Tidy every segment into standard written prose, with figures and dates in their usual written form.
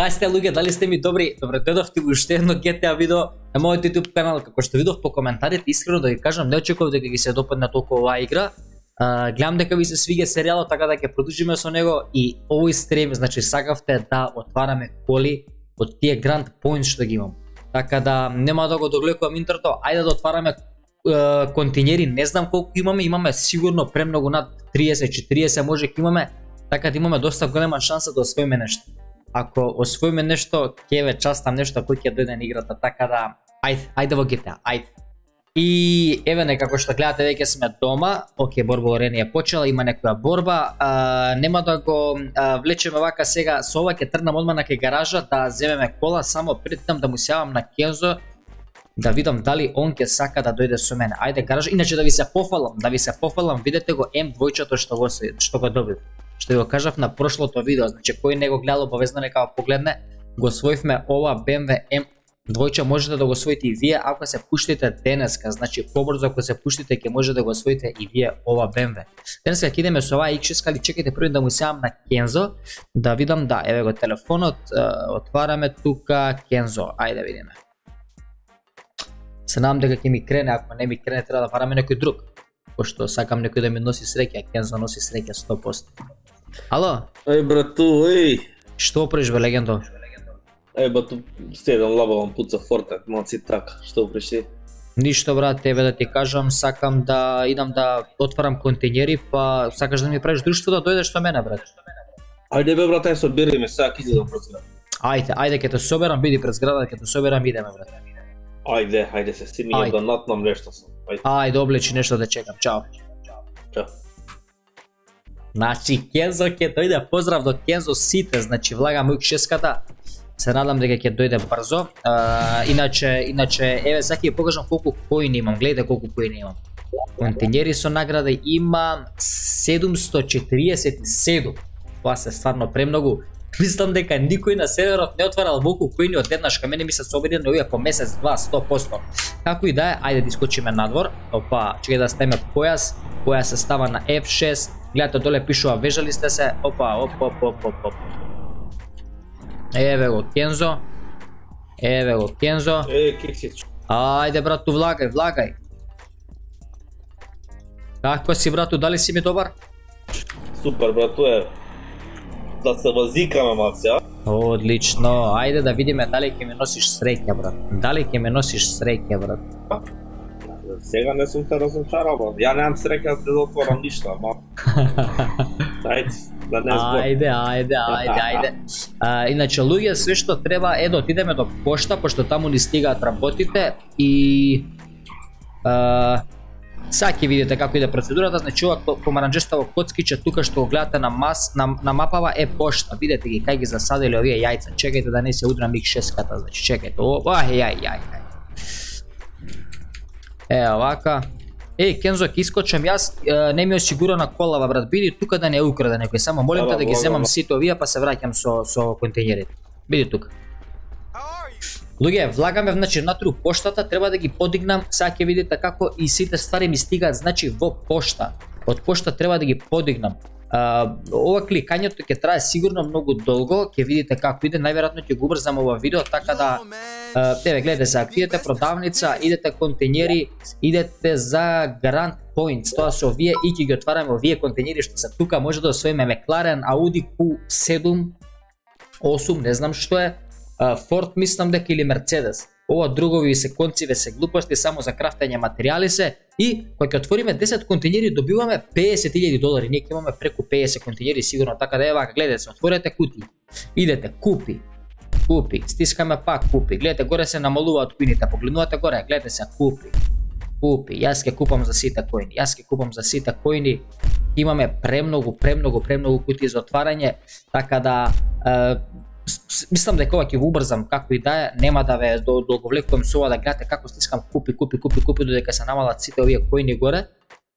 Кај сте луѓе, дали сте ми добри? Добре дојдовте во уште едно GTA видео на мојот YouTube канал. Како што видов по коментарите, искрено да ви кажам, не очекував дека ги се допадне толку оваа игра. Гледам дека ви се свиѓа серијалот, така да ќе продолжиме со него и овој стрим, значи сакавте да отвараме коли од тие Grand Points што ги имам. Така да нема да го догледувам интрото, ајде да отвараме континери, не знам колку имаме сигурно премногу над 30-40 може ќе имаме, така да имаме доста голема шанса да освоиме нешто. Ако освоиме нешто, ќе ве частам нешто кој ќе дојде на играта, така да ајде во GTA, ајде. И еве некако што гледате веќе сме дома. Океј, борба орени е почела, има некоја борба. Нема да го влечеме вака сега, со ова ќе тргнам одма на кај гаража да земеме кола, само пред тем да му се јавам на Кензо да видам дали он ќе сака да дојде со мене. Ајде гаража, иначе да ви се пофалам, видете го М2-чето што го добив. Што ви го кажав на прошлото видео, значи кој не го гледал обавезно нека го погледне. Го освоивме ова BMW M2, можете да го освоите и вие ако се пуштите денеска, значи побрзо ако се пуштите ќе може да го освоите и вие ова BMW. Денеска ќе идеме со оваа X6, али чекайте први да му сеам на Кензо да видам, да, еве го телефонот, отвараме тука Кензо, ајде видиме. Се надам дека ќе ми крене, ако не ми крене треба да бараме некој друг. Пошто сакам некој да ми носи среќа, Кензо носи среќа 100%. Ало? Еј брату, еј. Што преш бе легендо? Еј брату, стедам лабавам пуца Fortnite, малци така, што преш? Ништо брат, тебе да ти кажам, сакам да идам да отварам контейнери, па сакаш да ми правиш друштво да дојдеш со мене брат. Ајде бе брат, ај собери ме, сега ќе изидам пред зграда. Ајде ќе те соберам, биди пред зграда, ќе те соберам, идеме брат. Ајде се стигни да натнам нешто сам. Ајде облечи нешто да чекам, чао. Чао. Значи Кензо ќе дојде, поздрав до Кензо сите, значи влагам X6-ката. Се надам дека ќе дојде брзо. Иначе еве сега ќе ви покажам колку коини имам. Гледате колку коини имам. Контейнери со награда имам 747. Тоа се стварно премногу. Мислам дека никој на серверот не отварал волку коини одеднаш, кај мене ми се собедено овие по месец, 2, 100%. Како и да е, ајде да искочиме надвор. Опа, чекај да ставиме појас. Појас се става на F6. Гледате доле пишува вежали сте се. Опа. Еве го Кензо. Кексич. Ајде брату, влагај. Како си брату, дали си ми добар? Супер брату, да се возикаме малце, а? Одлично, ајде да видиме дали ќе ми носиш среќа брат. Сега не сум те разочарал, брат. Ја немам среќа да отворам ништо, ама. Ајде, да не збор. Ајде. Иначе луѓе, све што треба е да отидеме до пошта, пошто таму ни стигаат работите и сега ќе видите како иде процедурата, значи ова помаранџестово коцкиче тука што го гледате на мапава е пошта. Видете ги кај ги засадили овие јајца. Чекајте да не се удрам X6-ката, значи чекајте. Јај. Овака. Кензо, ќе искочам јас, не ми е осигурана колава брат, биди тука да не украде некој, само молим те да ги земам сите овие па се враќам со контейнерите. Биди тука. Луѓе, влагаме значи натру поштата, треба да ги подигнам, сега ќе видите како и сите ствари ми стигаат значи во пошта. Од пошта треба да ги подигнам. Ова кликањето ќе трае сигурно многу долго, ќе видите како иде, најверојатно ќе го убрзам ова видео, така да еве гледате сега, идете продавница, идете контейнери, идете за Grand Points, тоа се овие и ќе ги отвараме овие контейнери што се тука, може да освоиме McLaren, Audi Q7, 8, не знам што е, Ford мислам дека или Mercedes. Ова другови се конциве се глупости само за крафтење материјали се и кога ќе отвориме 10 контейнери добиваме $50,000. Ние ќе имаме преку 50 контейнери сигурно, така да ева гледате се, отворете кутии. Идете купи, стискаме пак купи. Гледате горе се намалуваат коините, погледнувате горе, гледате се купи. Јас ќе купам за сите коини. Имаме премногу кутии за отварање, така да мислам дека ова ќе го убрзам, како и да е, нема да ве долговлекувам со ова да гледате како стискам купи додека се намалат сите овие коини горе.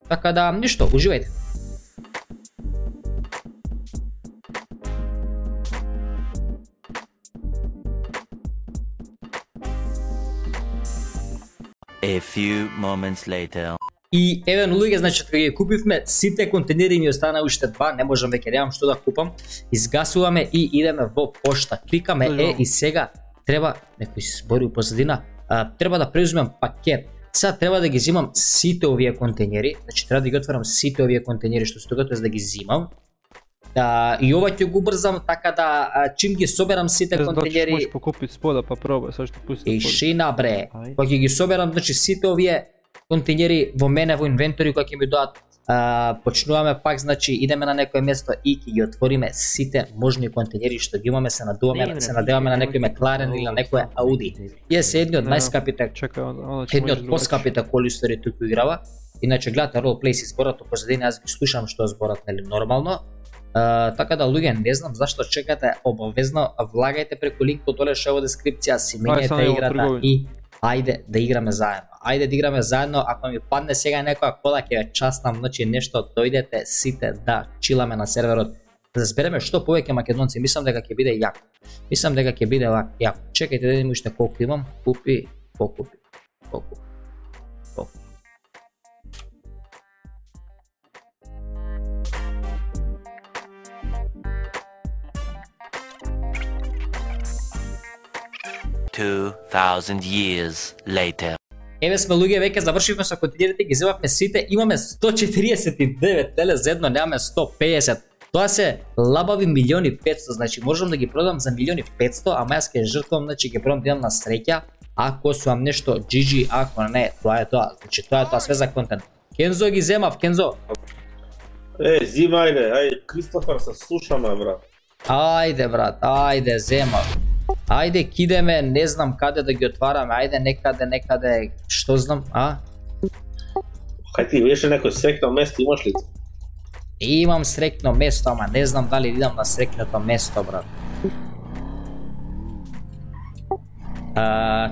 Така да ништо, уживајте. A few moments later. И еве луѓе, значи кога ги купивме сите контейнери, ми остана уште 2, не можам веќе, немам што да купам. Изгасуваме и идеме во пошта. Кликаме и сега треба некој се збори у позадина, треба да преузмем пакет. Сега треба да ги зимам сите овие контейнери, значи треба да ги отворам сите овие контейнери што стои, тоа да ги зимам. И ова ќе го брзам така да чим ги соберам сите контейнери. Можеш покупиш спода па пробај, сега што пусти. Тишина бре. Кога ќе ги соберам, значи сите овие контейнери во мене во инвентори кога ќе ми доат, почнуваме пак, значи идеме на некое место и ќе ги отвориме сите можни контейнери што ги имаме, се надеваме на некој Макларен или на некој Ауди. Е се едни од најскапите, едни од поскапите коли стори туку играва. Иначе гледате ролплей си зборот, позадина јас ги слушам што зборат, нели, нормално. Така да луѓе, не знам зашто чекате, обавезно влагајте преку линкот доле што е во дескрипција, си менете играта и ајде да играме заедно. Ајде да играме заедно, ако ми падне сега некоја кола ќе ве частам, значи нешто, дојдете сите да чиламе на серверот. Да збереме што повеќе македонци, мислам дека ќе биде јако. Мислам дека ќе биде јако. Чекајте да видиме уште колку имам, покупи. 2000 years later. Еве сме луѓе, веќе завршивме со контейнерите, ги земавме сите, имаме 149 телезедно, немаме 150. Тоа се лабави 1.500.000, значи можам да ги продам за 1.500.000, ама јас ќе жртвам, значи ќе пробам да имам на среќа, ако сум нешто GG, ако не, тоа е тоа, значи тоа е тоа све за контент. Кензо ги земав, Кензо. Зимајде, ајде, Кристофер, се слушаме, брат. Ајде, брат, ајде, земав. Ајде, кидеме, не знам каде да ги отвараме, ајде некаде, што знам, Кај ти беше некој срекно место, имаш ли? Имам срекно место, ама не знам дали идам на срекното место, брат.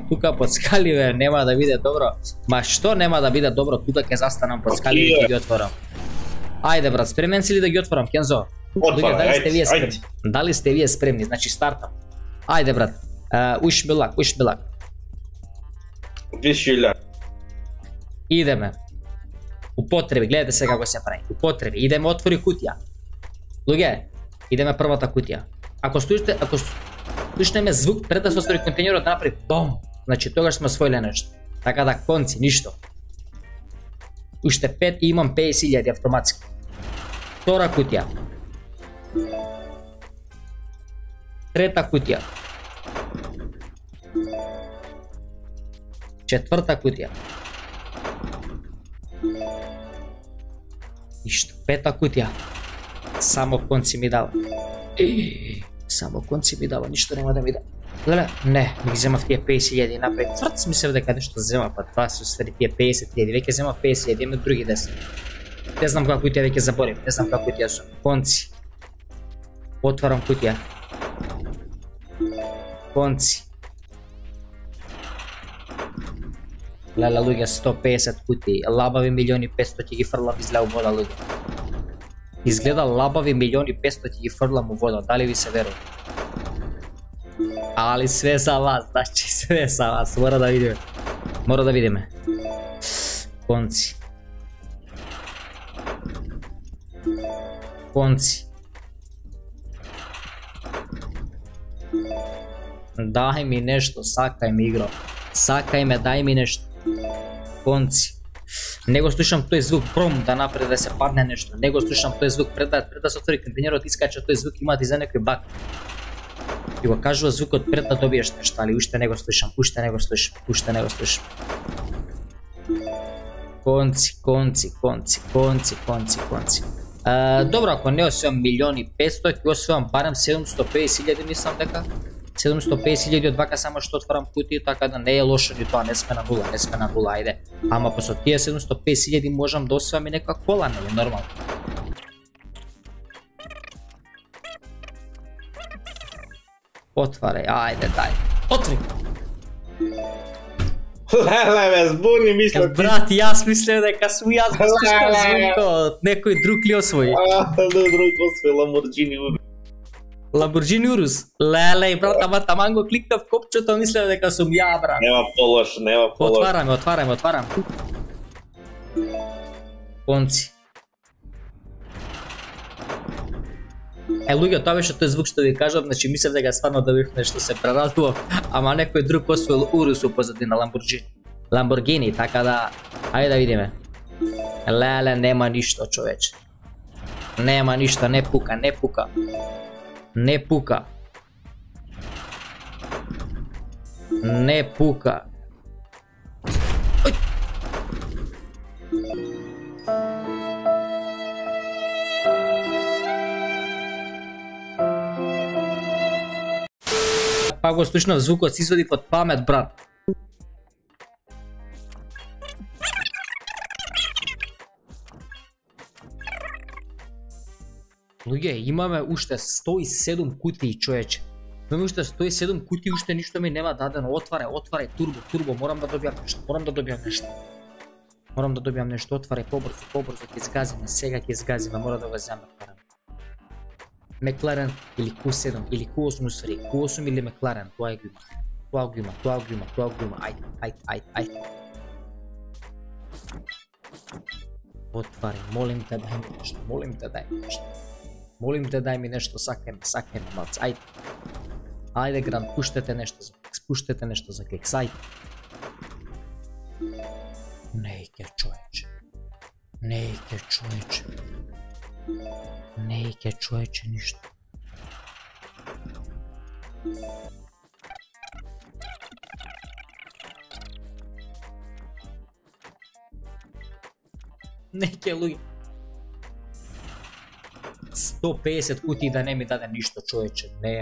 Тука под скаливе нема да биде добро. Ма што нема да биде добро, тука ќе застанам под скаливе и ќе ги отворам. Ајде, брат, спремен си ли да ги отворам, Кензо? Дали сте вие спремни? Значи стартам. Ајде, брат, wish me luck. Wish you luck. Идеме. Употреби, гледате сега како се прави. Употреби, идеме отвори кутија. Луѓе, идеме првата кутија. Ако слушнеме звук пред да се отвори контейнерот, направи бом. Значи тогаш сме освоиле нешто. Така да конци, ништо. Уште 5 и имам 50.000 автоматски. Втора кутија. Трета кутија. Четврта кутија. Ништо. Пета кутија. Само конци ми дава. Само конци ми дава, ништо нема да ми дава. Леле, не, ми ги земав тие 50.000 напред. Тврц мислев дека нешто зема, па тоа се усвари тие 50.000. Веќе земав 50.000, имам други 10. Не знам која кутија веќе заборим, не знам која кутија сум. Конци. Отварам кутија. Конци. Леле, луѓе, 150 кутии, лабави 1.500.000 ќе ги фрлам излеу вода, луѓе. Изгледа лабави 1.500.000 ќе ги фрлам у вода, дали ви се верува? Али све за вас, значи све за вас, мора да видиме. Мора да видиме. Конци. Конци. Дај ми нешто, сакај ми игро. Сакај ме, дај ми нешто. Конци. Не го слушам тој звук, пром да напред да се падне нешто. Не го слушам тој звук, пред да се отвори контейнерот, искача тој звук, имате за некој баг. И го кажува звукот пред да добиеш нешто, али уште не го слушам, уште не го слушам. Конци. Добро, ако не освојам 1.500.000, ќе освојам барем 750.000, мислам дека. 750.000 од вака само што отварам кутии, така да не е лошо ни тоа, не сме на нула, ајде. Ама по со тие 750.000 можам да освојам и некоја кола, нели, нормално. Отварај, ајде, дај. Отвори! Леле, ме збуни, мислам. Брат, јас мислев дека сум јас го слушам звукот, некој друг ли освои? Друг освои, Lamborghini Urus. Lamborghini Urus? Леле, брат, ама таман го кликнав копчето, мислев дека сум ја, брат. Нема полош. Отварам. конци. Луѓе, тоа беше тој звук што ви кажав, значи мислев дека стварно да бив нешто се прерадував, ама некој друг освоил Урусу позадина Ламборгини, така да, ајде да видиме. Леле, нема ништо, човече. Нема ништо, не пука, не пука. Не пука. Не пука. Ој! Па го слушнав звукот, си извадив од памет, брат. Луѓе, имаме уште 107 кутии, човече. Имаме уште 107 кутии, уште ништо ми нема дадено. Отварај, турбо, морам да добијам нешто. Отварај, побрзо, ќе згазиме, сега ќе згазиме, мора да го земе. Мекларен или Q7 или Q8 усвари, Q8 или Мекларен, тоа го има, ајде. Отвари, молим те дај ми нешто, сакаме, малце, ајде. Ајде, Гранд, пуштете нешто за кекс, ајде. Нејке, човече, ништо. Неќе, луѓе. 150 кутии да не ми даде ништо, човече. Не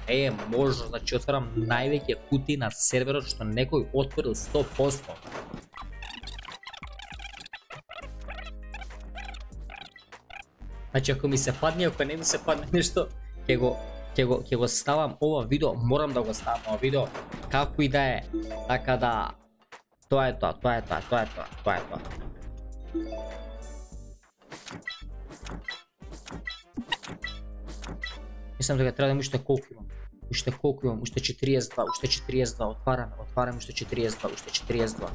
е можно, значи отварам највеќе кутии на серверот што некој отворил 100%. Значи ако ми се падне, ако не ми се падне нешто, ќе го ставам ова видео, морам да го ставам ова видео, како и да е, така да, тоа е тоа. Мислам дека треба да имам уште колку имам, уште 42, отвараме уште 42.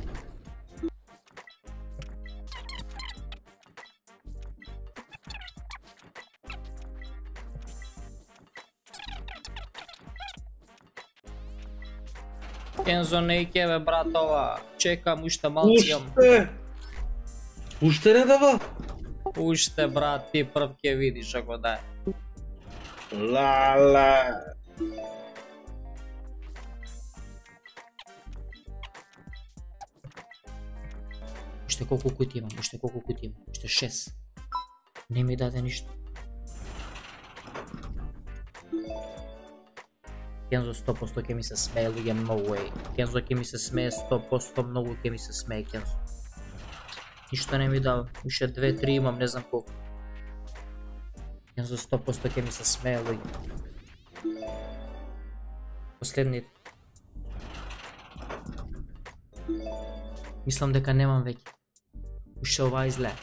Кензо, нејке бе, братова, чекам уште малци. Уште не дава? Уште, брат, ти прв ќе видиш ако да е. Лала. Уште колку кутии имам, уште 6. Не ми даде ништо. Кензо 100% ќе ми се смее, луѓе, no way. Кензо ќе ми се смее 100%, многу ќе ми се смее, Кензо. Ништо не ми дава, уште 2-3 имам, не знам колку. Кензо 100% ќе ми се смее, луѓе. Последните. Мислам дека немам веќе. Уште ова изле.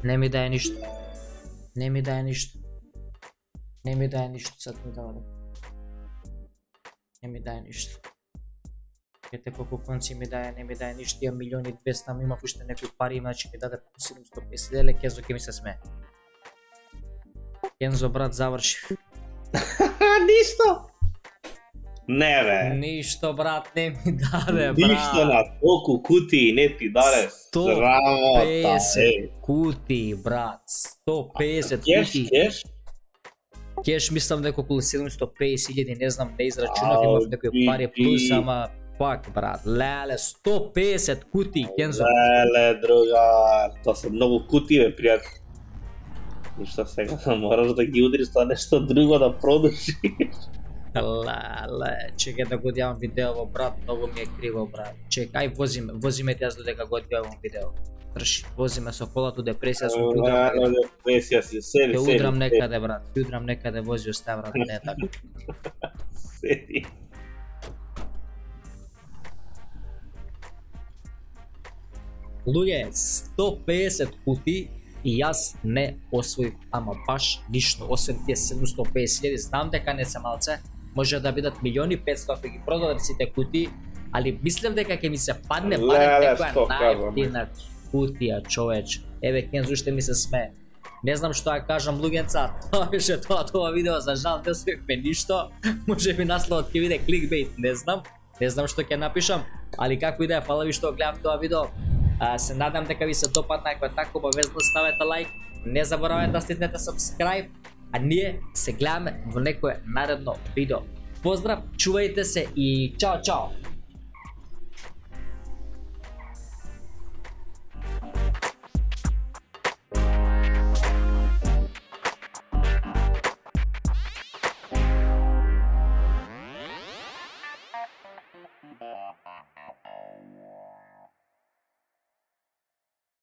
Не ми даде ништо, сад ми дава. Не ми даде ништо. Ете колку конци ми даде, не ми даде ништо, имам 1.200.000, ама имав уште некои пари, значи ми даде 750 Кензо ќе ми се смее. Кензо, брат, заврши. Ништо? Не бе. Ништо, брат, не ми даде, брат. Ништо на толку кутии не ти даде. 150 кутии, брат. 150 кутии. Кеш мислам дека околу 750.000, не знам, не израчунав, имав некои пари плюс, ама пак, брат, леле, 150 кутии, Кензо. Леле, другар, тоа се многу кутии, бе, пријател. Ништо сега, мораш да ги удриш тоа нешто друго да продушиш. Леле, чекај да го одјавам видео, брат, многу ми е криво, брат. Чекај, возиме ти јас додека го одјавам видео. Трши, возиме со колато депресија, сум удрам некаде. Те удрам некаде, брат, те удрам некаде, вози остав, брат, не е така. Седи. Луѓе, 150 кутии и јас не освоив ама баш ништо, освен тие 750.000, знам дека не се малце, може да бидат 1.500.000 ако ги продадам сите кутии, али мислам дека ќе ми се падне некоја најефтина кутија, човеч. Еве Кензо уште ми се смее. Не знам што ја кажам луѓенца, тоа беше тоа видео, за жал не успевме ништо. Може би насловот ќе биде кликбейт, не знам што ќе напишам, али како и да е, фала ви што гледав тоа видео. Се надам дека ви се допадна, ако е така обавезно ставете лайк, не заборавајте да стиснете subscribe, а ние се гледаме во некое наредно видео. Поздрав, чувајте се и чао чао!